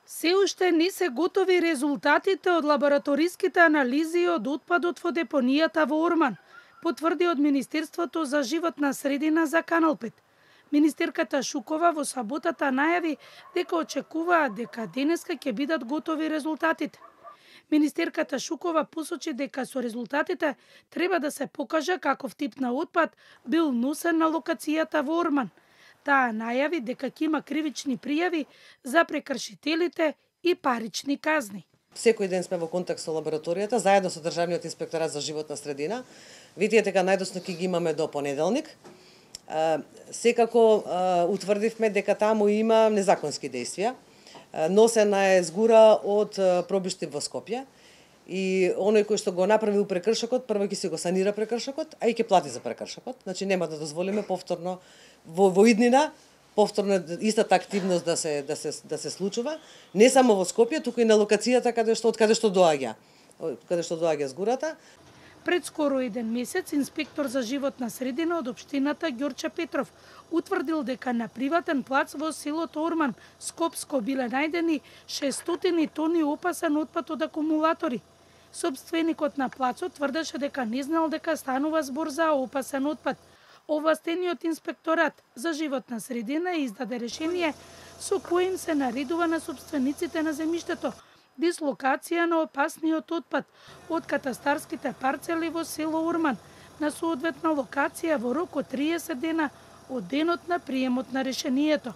Се уште не се готови резултатите од лабораториските анализи од отпадот во депонијата во Орман, потврди од Министерството за животна средина за Канал 5. Министерката Шукова во саботата најави дека очекуваат дека денеска ќе бидат готови резултатите. Министерката Шукова посочи дека со резултатите треба да се покаже каков тип на отпад бил носен на локацијата во Орман. Таа најави дека ќе има кривични пријави за прекршителите и парични казни. Секој ден сме во контакт со лабораторијата, заедно со Државниот инспекторат за животна средина. Видите дека најдосно ќе ги имаме до понеделник. Секако утврдивме дека таму има незаконски действија. Носена е згура од пробишти во Скопје и оној кој што го направил прекршокот, прво ќе се го санира прекршокот, а и ќе плати за прекршокот. Значи нема да дозволиме повторно во иднина повторно истата активност да се случува, не само во Скопје, туку и на локацијата од каде што доаѓа згурата. Пред скоро еден месец инспектор за животна средина од општината Ѓорче Петров утврдил дека на приватен плац во селото Орман, Скопско, биле најдени 600 тони опасен отпад од акумулатори. Собственикот на плацот тврдеше дека не знал дека станува збор за опасен отпад. Овластениот инспекторат за животна средина издаде решение со коим се наредува на собствениците на земјиштето дислокација на опасниот отпад од катастарските парцели во село Орман на соодветна локација во рок од 30 дена од денот на приемот на решението.